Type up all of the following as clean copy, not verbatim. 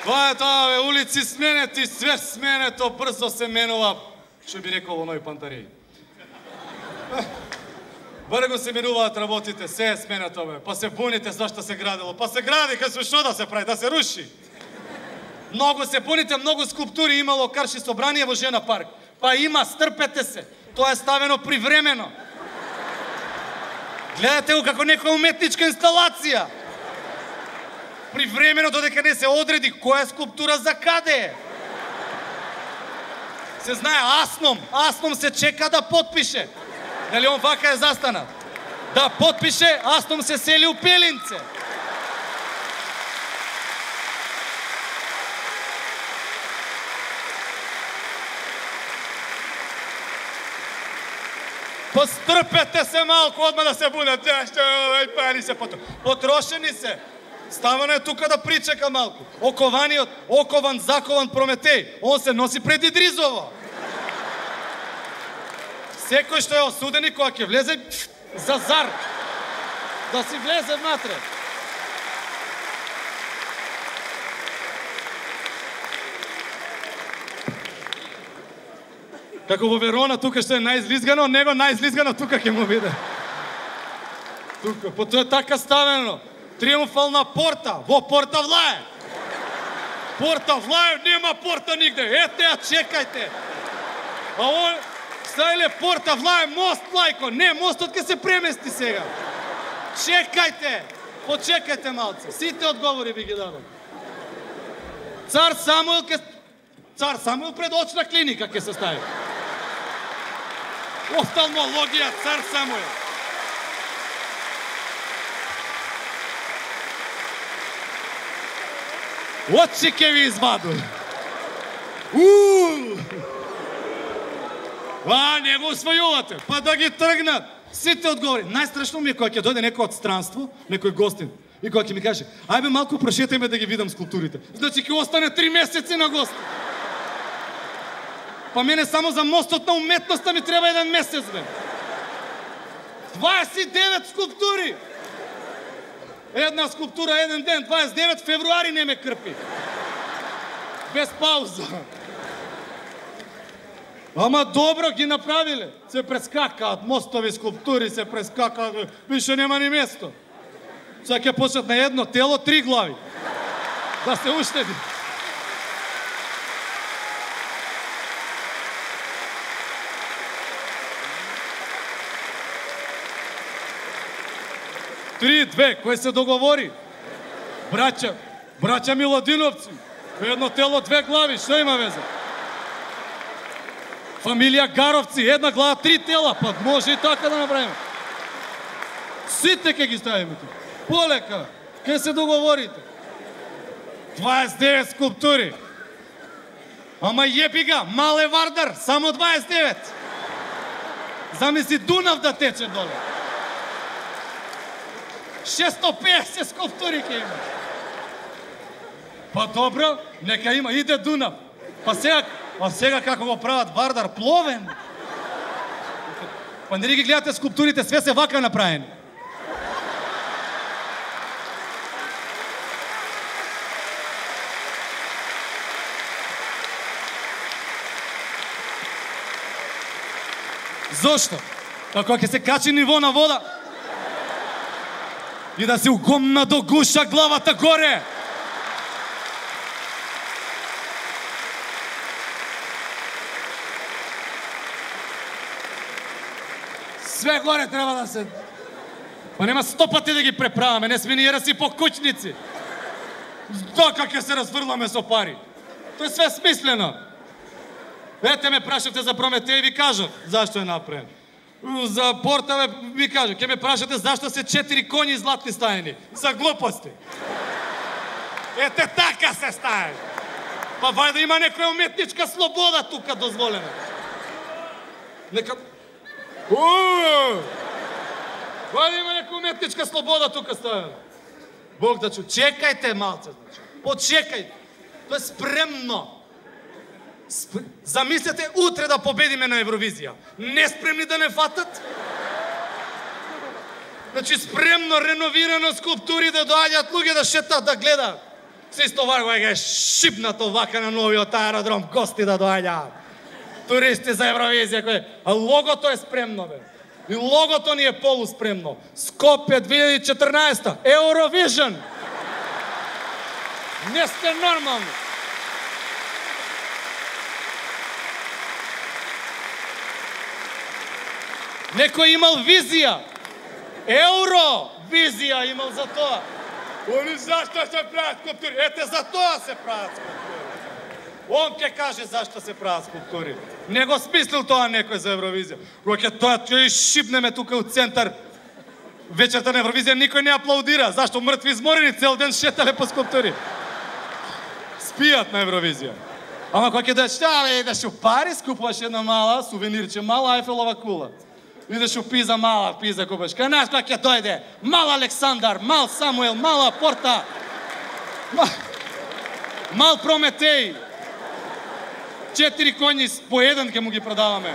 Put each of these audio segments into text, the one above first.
Тоа е тоа, бе, улици сменети, све сменето, брзо се менува, што би рекол оној Пантареј. Брго се менуваат работите, се е сменето, бе, па се буните зашто се градило, па се гради, кај што да се прави, да се руши. Многу се буните, многу скулптури имало Карши собрание во Жена парк. Па има, стрпете се, тоа е ставено привремено. Гледате го како некоја уметничка инсталација. Привремено додека не се одреди која скулптура за каде е. Се знае Асном се чека да потпише. Нели он вака е застанат? Да потпише, Асном се сели у Пелинце. Пострпете се малку, одма да се будат. Пари се потрошени се. Ставано е тука да причека малку. Окован, закован Прометеј, он се носи пред Идризово. Секој што е осудени, кога ќе влезе за зар, да си влезе внатре. Како во Верона, тука што е најизлизгано, него најизлизгано тука ќе му биде. Тука, по тоа е така ставено. Триумфална порта, во Порта Влај. Порта Влај, нема порта нигде, ете ја чекајте. А он, стајле Порта Влај, мост лајко, не, мостот ке се премести сега. Чекајте, почекајте малце, сите одговори би ги дадам. Цар Самуил пред очна клиника ке се стави. Офталмологија, цар Самуил. Очи ке ви изваду. Не го усвојувате, па да ги тргнат. Сите одговори. Најстрашно ми е кога ќе дојде некој од странство, некој гостин, и кога ќе ми каже, ајде малку прошетајме да ги видам скулптурите. Значи ќе остане 3 месеци на гост. Па мене само за мостот на уметноста ми треба 1 месец, бе. 29 скулптури. Една скулптура, 1 ден, 29 февруари не ме крпи. Без пауза. Ама добро ги направиле. Се прескакаат мостови, скулптури се прескакаат. Више нема ни место. Сега ќе почнат на едно тело 3 глави. Да се уштеди. Три, две, кој се договори? Браќа Миладиновци. Едно тело, 2 глави, што има везе? Фамилија Гаровци, 1 глава, 3 тела, па може и така да направиме. Сите ќе ги ставиме тук. Полека, ќе се договорите. 29 скулптури. Ама јеби га, Мале Вардар, само 29. Замисли Дунав да тече доле. 650 скулптури ќе има. Па добро, нека има, иде Дунав. Па сега како го прават Вардар, пловен. Па нели ги гледате скулптурите, све се вака направени. Зошто? Како ќе се качи ниво на вода и да се угомна до гуша главата горе. Све горе треба да се... Па нема 100 пати да ги преправаме, не сме ни ераси по кучници. Дока ќе се разврламе со пари. Тоа е све смислено. Ете ме прашате за Прометеј, ви кажат зашто е направен. За Порта ви кажа, ќе ме прашате зашто се 4 коњи златни стаени. За глупости. Ете така се стаени. Па вајде има некоја уметничка слобода тука дозволена. Нека... Вајде има некоја уметничка слобода тука ставена. Бог да чу. Чекајте малце, значи. Почекајте. Тоа е спремно. Замислете утре да победиме на Евровизија. Не спремни да не фатат? Значи спремно, реновирано скулптури да доаѓаат луѓе да шетат, да гледаат. Се истовар кој е шипнато вака на новиот аеродром, гости да доаѓаат. Туристи за Евровизија кој, а логото е спремно бе. И логото ни е полуспремно. Скопје 2014, Евровижн. Не сте нормални. Некој имал визија. Евровизија имал за тоа. Они зашто се прават скулптури? Ете за тоа се прават скулптури. Он ќе каже зашто се прават скулптури. Не го смислил тоа некој за Евровизија. Кога тоа ќе шипнеме тука у центар вечерта на Евровизија, никој не аплаудира. Зашто мртви изморени цел ден шетале по скулптури. Спијат на Евровизија. Ама кога ќе дојдеш, што идеш у Париз, купуваш една мала сувенирче, мала Айфелова кула. Идеш у Пиза, мала Пиза купаш. Кај нас кога ќе дојде, мал Александар, мал Самуел, мала Порта, мал Прометеј. 4 коњи по еден ќе му ги продаваме.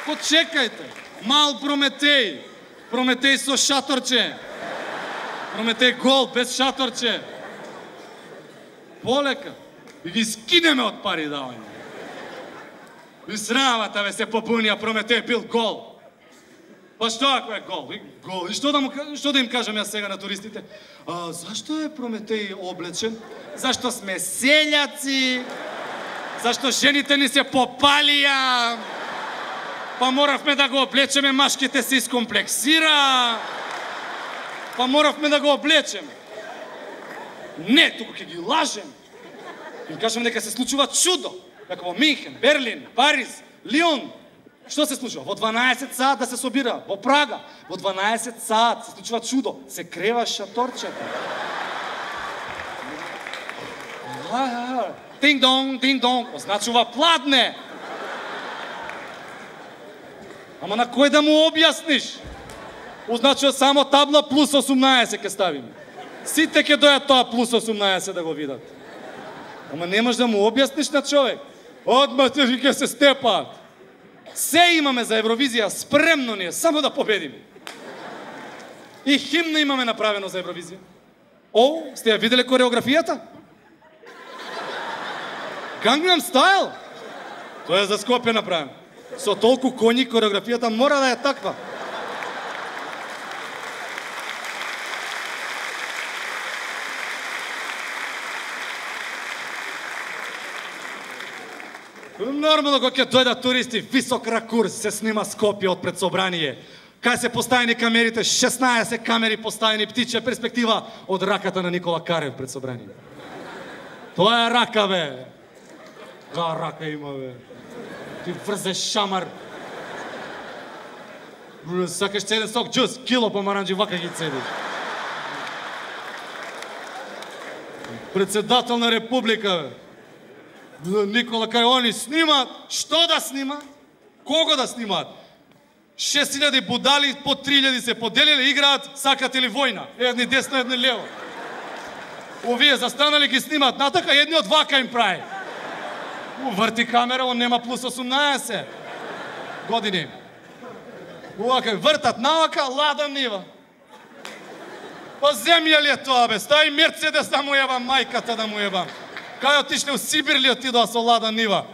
Почекајте, мал Прометеј, Прометеј со шаторче, Прометеј гол без шаторче. Полека, и ги скинеме од пари давање. И срамата бе се побунија, Прометеј бил гол. Па што ако е гол? Гол. И што да им кажам јас сега на туристите? Зашто е Прометеј облечен? Зашто сме селјаци? Зашто жените ни се попалија? Па моравме да го облечеме, машките се искомплексира. Па моравме да го облечеме. Не, туку ќе ги лажем. Им кажам дека се случува чудо. Како во Минхен, Берлин, Париз, Лион. Што се случува? Во 12 саат да се собира, во Прага. Во 12 саат се случува чудо. Се крева шаторчето. Тинг-донг, тинг-донг. Означува пладне. Ама на кој да му објасниш? Означува само табла плюс 18 ќе ставиме. Сите ќе дојат тоа плюс 18 да го видат. Ама не можеш да му објасниш на човек. Одма ќе се степаат. Се имаме за Евровизија, спремно ни е, само да победиме. И химна имаме направено за Евровизија. Сте ја виделе кореографијата? Gangnam Style? Тоа е за Скопје направено. Со толку коњи кореографијата мора да е таква. Нормално кога ќе дојдат туристи, висок ракурс се снима Скопје од пред собрание. Кај се поставени камерите, 16 камери поставени, птичја перспектива од раката на Никола Карев пред собрание. Тоа е рака, бе. Га рака има, бе. Ти врзеш шамар. Сакаш цеден сок джус, кило помаранџи, вака ги цедиш. Председател на република, бе. Никола кај они снимаат, што да снимаат? Кого да снимаат? 6000 будали, по 3000 се поделиле, играат, сакате ли војна? Едни десно, едни лево. Овие застанали ги снимаат натака, едни од вака им прави. Врти камера, он нема плюс 18 години. Овака, вртат навака, лада нива. Па земја ли е тоа, бе? Стај Мерцедес да му ебам, мајката да му ебам. Кај отишле у Сибир ли отидоа со лада нива?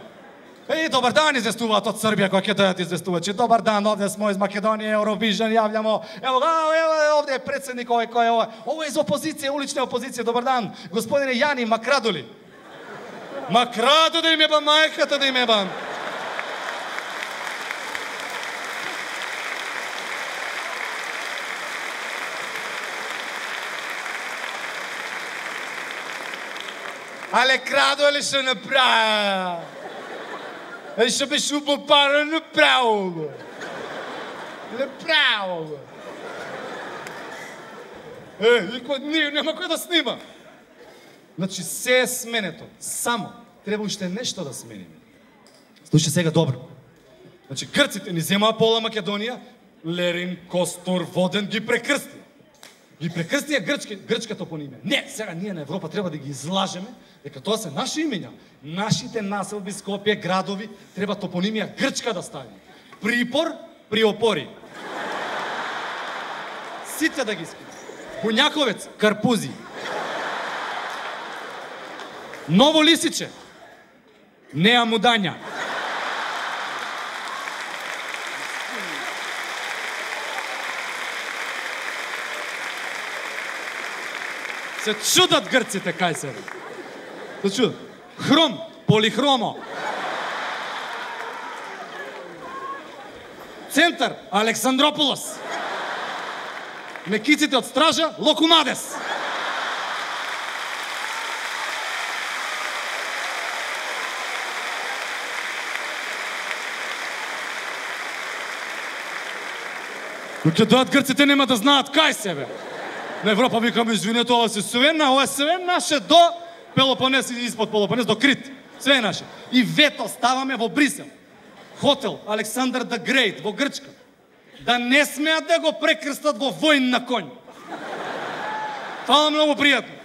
Добар дан, известуваат од Србија, кој ќе дојат известувачи. Добар дан, овде смо из Македонија, Евровижн, јављамо. Ево, овде е председник овој кој е овој. Овој из опозиција, улична опозиција. Добар дан, господине Јани Макрадоли. Макрадо да им ебам, мајката да им ебам. Але крадо ли што направи? Што беше упопарано, направо го. Направо го. Нема кој да снима. Значи, се е сменето. Само. Треба уште нешто да смениме. Слушай сега добро. Значи, грците ни земаа пола Македонија, Лерин, Костур, Воден ги прекрсти. Ги прекрстија грчка топонимија. Не, сега ние на Европа треба да ги излажеме дека тоа се наши имења. Нашите населби, Скопје, градови треба топонимија грчка да ставиме. Припор, приопори. Сите да ги скинат. Бунјаковец, Карпузи. Ново Лисиче, Неа Мудања. Се чудат грците кај се. Се чудат. Хром, Полихромо. Центар, Александрополос. Мекиците од стража, Локумадес. Но ќе дојат грците нема да знаат кај себе. На Европа викаме, извинете, ова се све наше до Пелопонес и испод Пелопонес, до Крит. Све наше. И вето ставаме во Брисел. Хотел Александар the Great во Грчка. Да не смеат да го прекрстат во војн на конј. Фала многу пријатно.